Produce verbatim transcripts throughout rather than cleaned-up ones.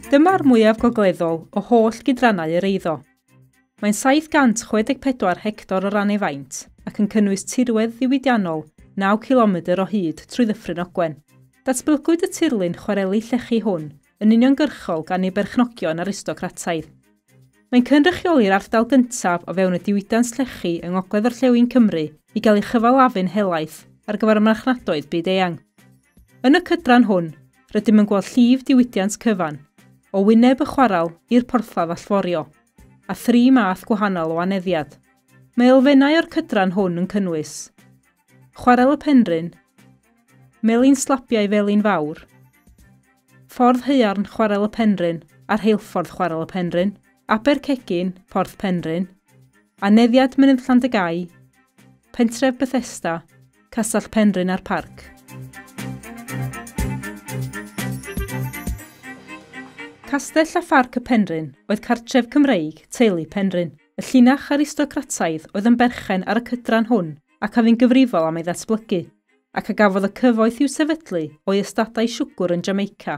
Dyma'r mwyaf gogleddol o holl gydrannau yr eiddo. Mae'n saith gant chwe deg pedwar hector o ran ei faint ac yn cynnwys tirwedd ddiwydiannol naw cilomedr o hyd trwy Ddyffryn Ogwen. Datblygwyd y tirlun chwareli llechi hwn yn uniongyrchol gan ei berchnogion aristocrataidd. Mae'n cynrychioli'r ardal gyntaf o fewn y diwydiant llechi yng Ngogledd Orllewin Cymru i gael ei chyfalafu'n helaeth ar gyfer y marchnadoedd byd-eang. Yn y cydran hwn, rydym yn gweld llif diwydiant cyfan, o wyneb y chwarel i'r porthladd allforio, a thri math gwahanol o aneddiad. Mae elfennau o'r cydran hwn yn cynnwys Chwarel y Penrhyn, Melin Slabiau Felin Fawr, Ffordd Haearn Chwarel y Penrhyn a'r Rheilffordd Chwarel y Penrhyn, Abercegin, Porth Penrhyn, Aneddiad Mynydd Llandygai, Pentref Bethesda, Castell Penrhyn a'r Parc. Castell a Pharc y Penrhyn oedd cartref Cymreig teulu Penrhyn. Y llinach aristocrataidd oedd yn berchen ar y cydran hwn ac a fu'n gyfrifol am ei ddatblygu, ac a gafodd y cyfoeth i'w sefydlu o'i ystadau siwgr yn Jamaica,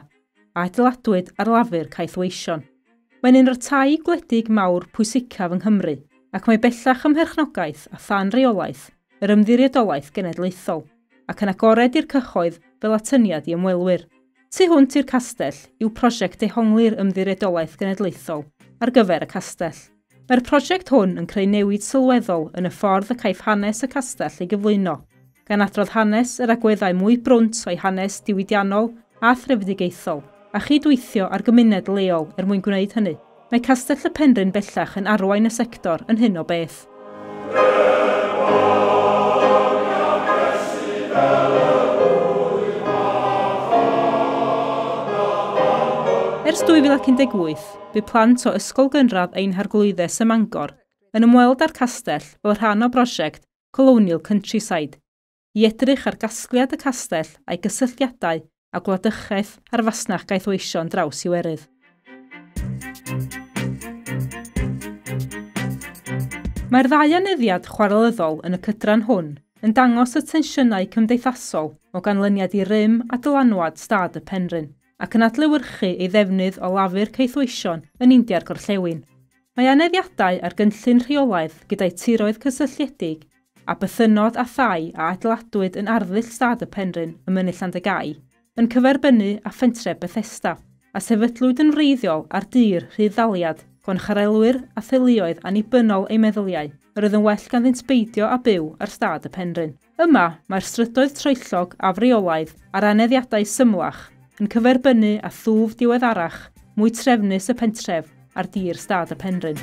a adeiladwyd ar lafur caethweision. Mae'n un o'r tai gwledig mawr pwysicaf yng Nghymru, ac mae bellach ym mherchnogaeth a than reolaeth yr Ymddiriedolaeth Genedlaethol, ac yn agored i'r cyhoedd fel atyniad i ymwelwyr. Tu hwnt i'r castell yw prosiect dehongli'r Ymddiriedolaeth Genedlaethol ar gyfer y castell. Mae'r prosiect hwn yn creu newid sylweddol yn y ffordd y caiff hanes y castell ei gyflwyno, gan adrodd hanes yr agweddau mwy brwnt o'i hanes diwydiannol a threfedigaethol, a chydweithio ar gymuned leol er mwyn gwneud hynny. Mae Castell y Penrhyn bellach yn arwain y sector yn hyn o beth. Ers dwy fil ac un deg wyth, bu plant o Ysgol Gynradd Ein Harglwyddes ym Mangor yn ymweld â'r castell fel rhan o brosiect Colonial Countryside i edrych ar gasgliad y castell a'i gysylltiadau a gwladychaeth a'r fasnach gaethweision draws Iwerydd. Mae'r ddau aneddiad chwarelyddol yn y cydran hwn yn dangos y tensiynau cymdeithasol o ganlyniad i rym a dylanwad stad y Penrhyn, ac yn adlewyrchu ei ddefnydd o lafur caethweision yn India'r Gorllewin. Mae aneddiadau ar gynllun rheolaidd gyda'i tiroedd cysylltiedig a bythynnod a thai a adeiladwyd yn arddull stad y Penrhyn ym Mynydd Llandygai yn cyferbynnu â phentref Bethesda, a sefydlwyd yn wreiddiol ar dir rhydd-ddaliad gan chwarelwyr a theuluoedd annibynnol eu meddyliau, yr oedd yn well ganddynt beidio a byw ar stad y Penrhyn. Yma, mae'r strydoedd troellog afreolaidd a'r aneddiadau symlach yn cyferbynnu â thwf diweddarach mwy trefnus y pentref ar dir stad y Penrhyn.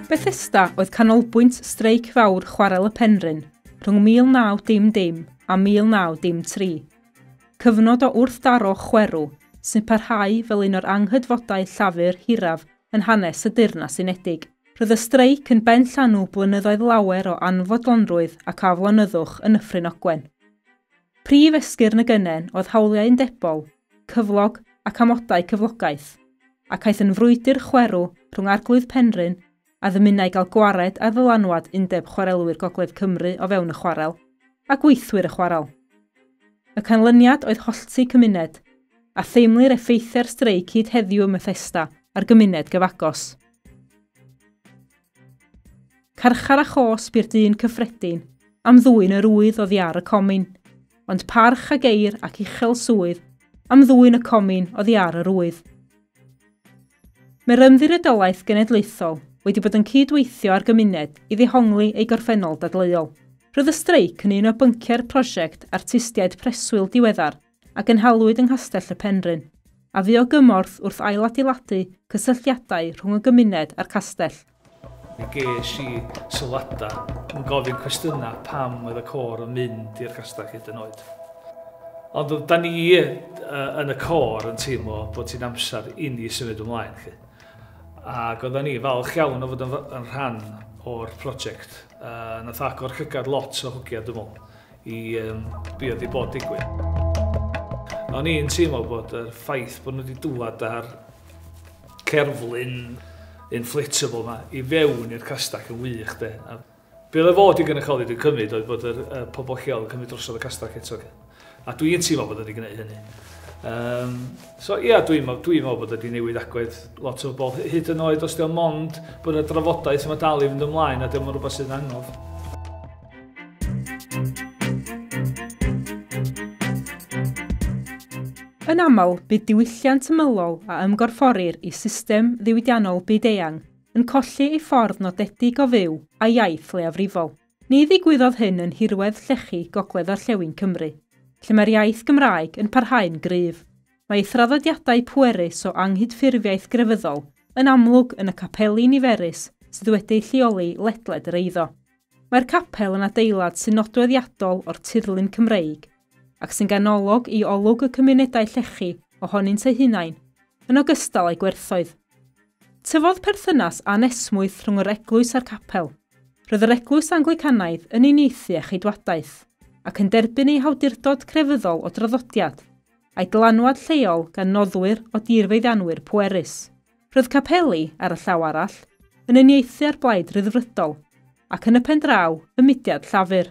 Bethesda oedd canolbwynt streic fawr Chwarel y Penrhyn rhwng mil naw dim dim a mil naw dim tri. Cyfnod o wrthdaro chwerw sy'n parhau fel un o'r anghydfodau llafur hiraf yn hanes y Deyrnas Unedig. Roedd y streic yn ben llanw blynyddoedd lawer o anfodlonrwydd ac aflonyddwch yn Nyffryn Ogwen. Prif esgyrn y gynnen oedd hawliau undebol, cyflog ac amodau cyflogaeth, ac aeth yn frwydr chwerw rhwng Arglwydd Penrhyn a ddymunai gael gwared ar ddylanwad Undeb Chwarelwyr Gogledd Cymru o fewn y chwarel, a gweithwyr y chwarel. Y canlyniad oedd hollti cymuned, a theimlir effeithiau'r streic hyd heddiw ym Methesda a'r gymuned gyfagos. Carchar a chosb i'r dyn cyffredin am ddwyn yr wydd oddi ar y comin, ond parch a geir ac uchel swydd am ddwyn y comin oddi ar yr wydd. Mae'r Ymddiriedolaeth Genedlaethol wedi bod yn cydweithio â'r gymuned i ddehongli ei gorffennol dadleuol. Roedd y streic yn un o bynciau'r prosiect artistiaid preswyl diweddar a gynhaliwyd yng Nghastell y Penrhyn, a fu o gymorth wrth ailadeiladu cysylltiadau rhwng y gymuned a'r castell. Mi ges i sylwadau yn gofyn cwestiynau pam oedd y côr yn mynd i'r castell hyd yn oed. Ond da ni yn y côr yn teimlo bod hi'n amser i ni symud ymlaen. Ac oedden ni falch iawn o fod yn rhan o'r prosiect. Nath agor llygad lot o hogia, dwi'n meddwl, i be oedd i bod digwydd. O'n i'n teimlo bod y ffaith bod nhw wedi dŵad ar cerflun inflatable ma i fewn i'r castell yn wych de. A Be oedd y fod i gynrychioli dwi'n cymryd oedd bod yr uh, pobl lleol yn cymryd drosodd y castell eto. A dwi'n teimlo bod wedi gwneud hynny. Um, so ia, dwi'n dwi meddwl bod wedi newid agwedd lot o bobl, hyd yn oed os di o'n mond bod y drafodaeth yma dal i fynd ymlaen a dim ond rhywbeth sydd yn angof. Yn aml, bydd diwylliant ymylol a ymgorfforir i system ddiwydiannol byd-eang yn colli ei ffordd nodedig o fyw a iaith leiafrifol. Ni ddigwyddodd hyn yn nhirwedd llechi Gogledd Orllewin Cymru, lle mae'r iaith Gymraeg yn parhau'n gryf. Mae ei thraddodiadau pwerus o anghydffurfiaeth grefyddol yn amlwg yn y capeli niferus sydd wedi'u lleoli ledled yr eiddo. Mae'r capel yn adeilad sy'n nodweddiadol o'r tirlun Cymreig ac sy'n ganolog i olwg y cymunedau llechi ohonynt eu hunain, yn ogystal â'i gwerthoedd. Tyfodd perthynas anesmwyth rhwng yr eglwys a'r capel. Roedd yr eglwys Anglicanaidd yn uniaethu â cheidwadaeth ac yn derbyn ei hawdurdod crefyddol o draddodiad, a'i dylanwad lleol gan noddwyr o dirfeiddianwyr pwerus. Roedd capeli, ar y llaw arall, yn uniaethu â'r blaid ryddfrydol ac yn y pen draw y mudiad Llafur.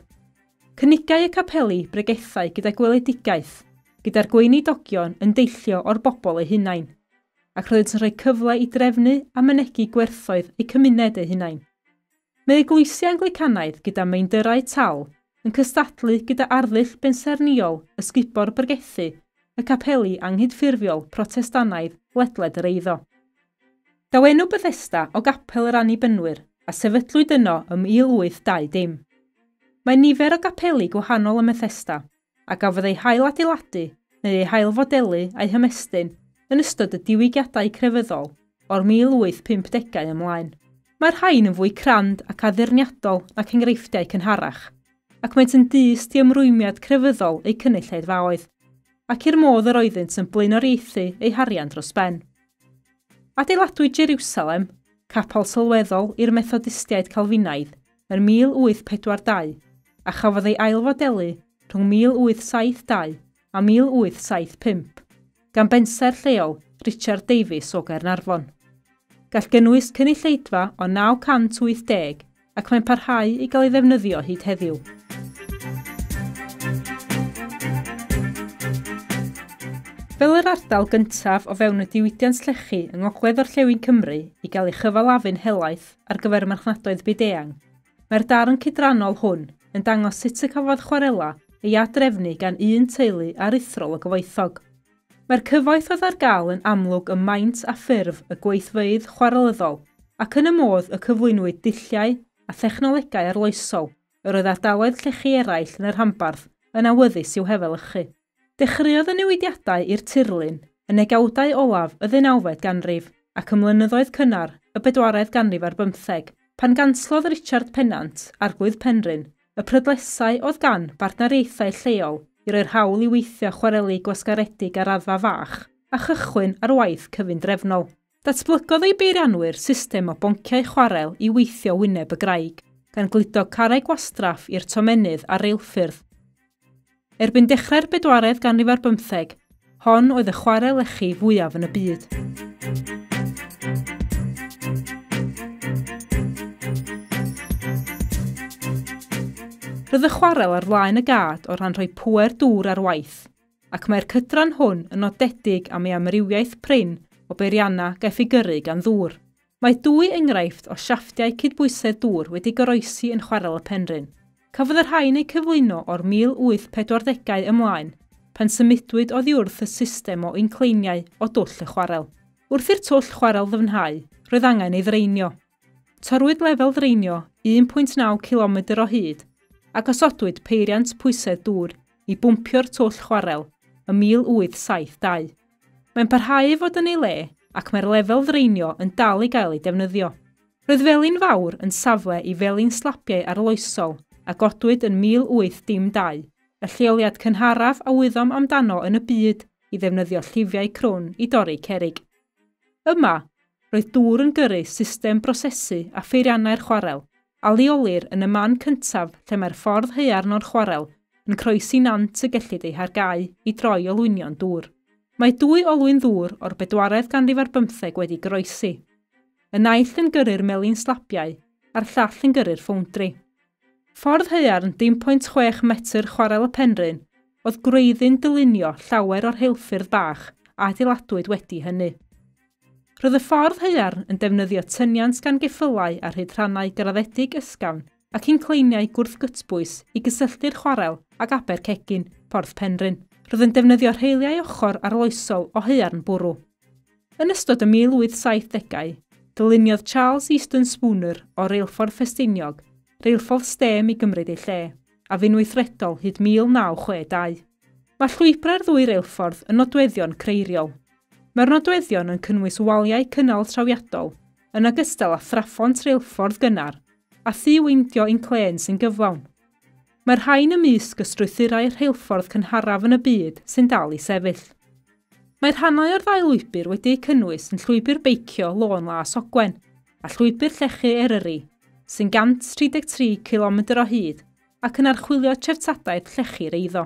Cynigai y capeli bregethau gyda gweledigaeth, gyda'r gweinidogion yn deillio o'r bobl eu hunain, ac roeddynt yn rhoi cyfle i drefnu a mynegi gwerthoedd eu cymuned eu hunain. Mae eglwysi Anglicanaidd gyda meindyrau tal yn cystadlu gyda arddull bensaernïol ysgubor bregethu y capeli anghydffurfiol Protestannaidd ledled yr eiddo. Daw enw Bethesda o gapel yr Annibynwyr a sefydlwyd yno ym mil wyth dau dim. Mae nifer o gapeli gwahanol ym Methesda a gafodd eu hailadeiladu neu eu hailfodelu a'u hymestyn yn ystod y diwygiadau crefyddol o'r mil wyth pump degau ymlaen. Mae'r rhain yn fwy crand ac addurniadol nac enghreifftiau cynharach, ac maent yn dyst i ymrwymiad crefyddol eu cynulleidfaoedd, ac i'r modd yr oeddynt yn blaenoriaethu eu harian dros ben. Adeiladwyd Jerusalem, capel sylweddol i'r Methodistiaid Calfinaidd, yn mil wyth pedwar dau, a chafodd ei ailfodelu rhwng mil wyth saith dau a mil wyth saith pump, gan bensaer lleol Richard Davies o Gaernarfon. Gall gynnwys cynulleidfa o naw cant wyth deg ac mae'n parhau i gael ei ddefnyddio hyd heddiw. Fel yr ardal gyntaf o fewn y diwydiant llechi yng Ngogledd Orllewin Cymru i gael ei chyfalafu'n helaeth ar gyfer y marchnadoedd byd-eang, mae'r darn cydrannol hwn yn dangos sut y cafodd chwarela ei adrefnu gan un teulu aruthrol o gyfoethog. Mae'r cyfoeth oedd ar gael yn amlwg ym maint a ffurf y gweithfeydd chwarelyddol ac yn y modd y cyflwynwyd dulliau a thechnolegau arloesol yr oedd ardaloedd llechi eraill yn yr rhanbarth yn awyddus i'w hefelychu. Dechreuodd y newidiadau i'r tirlun yn negawdau olaf y ddeunawfed ganrif ac ym mlynyddoedd cynnar y bedwaredd ganrif ar bymtheg, pan ganslodd Richard Pennant, arglwydd Penrhyn, y prydlesau oedd gan bartneriaethau lleol i roi'r hawl i weithio chwareli gwasgaredig ar raddfa fach a chychwyn ar waith cyfundrefnol. Datblygodd ei beirianwyr system o bonciau chwarel i weithio wyneb y graig, gan gludo carreg gwastraff i'r tomennydd a reilffyrdd. Erbyn dechrau'r bedwaredd ganrif ar bymtheg, hon oedd y chwarel lechi fwyaf yn y byd. Roedd y chwarel ar flaen y gad o ran rhoi pŵer dŵr ar waith, ac mae'r cydran hwn yn nodedig am ei amrywiaeth prin o beiriannau gaiff ei gyrru gan ddŵr. Mae dwy enghraifft o siafftiau cydbwysedd dŵr wedi goroesi yn chwarel y Penrhyn. Cafodd y rhain eu cyflwyno o'r mil wyth pedwar degau ymlaen, pan symudwyd oddi wrth y system o incleiniau o dwll y chwarel. Wrth i'r twll chwarel ddyfnhau, roedd angen ei ddraenio. Torrwyd lefel ddraenio un pwynt naw cilomedr o hyd a gosodwyd peiriant pwysedd dŵr i bwmpio'r twll chwarel ym mil wyth saith dau. Mae'n parhau i fod yn ei le ac mae'r lefel ddraenio yn dal i gael ei defnyddio. Roedd Felin Fawr yn safle i felin slabiau arloesol a godwyd yn mil wyth dim dau, y lleoliad cynharaf a wyddom amdano yn y byd i ddefnyddio llifiau crwn i dorri cerrig. Yma, roedd dŵr yn gyrru system brosesu a pheiriannau'r chwarel, a leolir yn y man cyntaf lle mae'r ffordd haearn o'r chwarel yn croesi nant y gellid ei hargau i droi olwynion dŵr. Mae dwy olwyn ddŵr o'r bedwaredd ganrif ar bymtheg wedi goroesi. Y naill yn gyrru'r melin slabiau a'r llall yn gyrru'r ffowndri. Ffordd haearn dim pwynt chwech metr Chwarel y Penrhyn oedd gwreiddyn dylunio llawer o'r rheilffyrdd bach a adeiladwyd wedi hynny. Roedd y ffordd haearn yn defnyddio tyniant gan geffylau ar hyd rhannau graddedig ysgafn ac incleiniau gwrthgytbwys i gysylltu'r chwarel ag Abercegin, Porth Penrhyn. Roedd yn defnyddio rheiliau ochr arloesol o haearn bwrw. Yn ystod y mil wyth saithdegau, dyluniodd Charles Easton Spooner o Reilffordd Ffestiniog reilffordd stêm i gymryd ei lle, a fu'n weithredol hyd mil naw chwe dau. Mae llwybrau'r ddwy reilffordd yn nodweddion creiriol. Mae'r nodweddion yn cynnwys waliau cynnal trawiadol, yn ogystal â thraphont reilffordd gynnar, a thŷ weindio inclên sy'n gyflawn. Mae'r rhain ymysg y strwythurau rheilffordd cynharaf yn y byd sy'n dal i sefyll. Mae rhannau o'r ddau lwybr wedi'u cynnwys yn llwybr beicio Lôn Las Ogwen a llwybr llechi Eryri, sy'n gant tri deg tri cilometr o hyd ac yn archwilio treftadaeth llechi'r eiddo.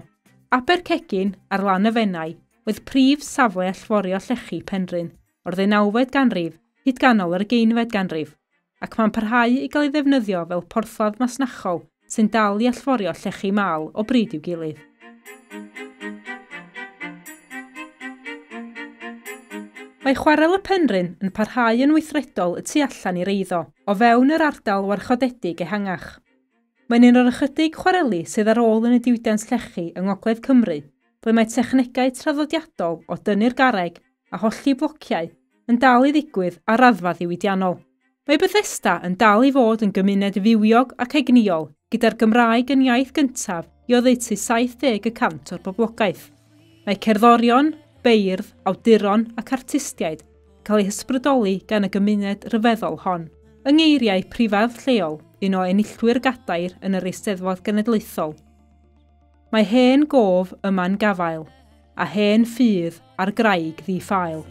Abercegin ar lan y Fenai oedd prif safle allforio llechi Penrhyn o'r ddeunawfed ganrif hyd ganol yr ugeinfed ganrif, ac mae'n parhau i gael ei ddefnyddio fel porthladd masnachol sy'n dal i allforio llechi mal o bryd i'w gilydd. Mae Chwarel y Penrhyn yn parhau yn weithredol y tu allan i'r eiddo, o fewn yr ardal warchodedig ehangach. Mae'n un o'r ychydig chwareli sydd ar ôl yn y diwydiant llechi yng Ngogledd Cymru, ble mae technegau traddodiadol o dynnu'r garreg a hollti blociau yn dal i ddigwydd ar raddfa ddiwydiannol. Mae Bethesda yn dal i fod yn gymuned fywiog ac egnïol, gyda'r Gymraeg yn iaith gyntaf i oddeutu saith deg y cant o'r boblogaeth. Mae cerddorion, beirdd, awduron ac artistiaid cael eu hysbrydoli gan y gymuned ryfeddol hon. Yng ngeiriau prifardd lleol, un o enillwyr gadair yn yr Eisteddfod Genedlaethol. Mae hen gof yma'n gafael, a hen ffydd ar graig ddi-ffael.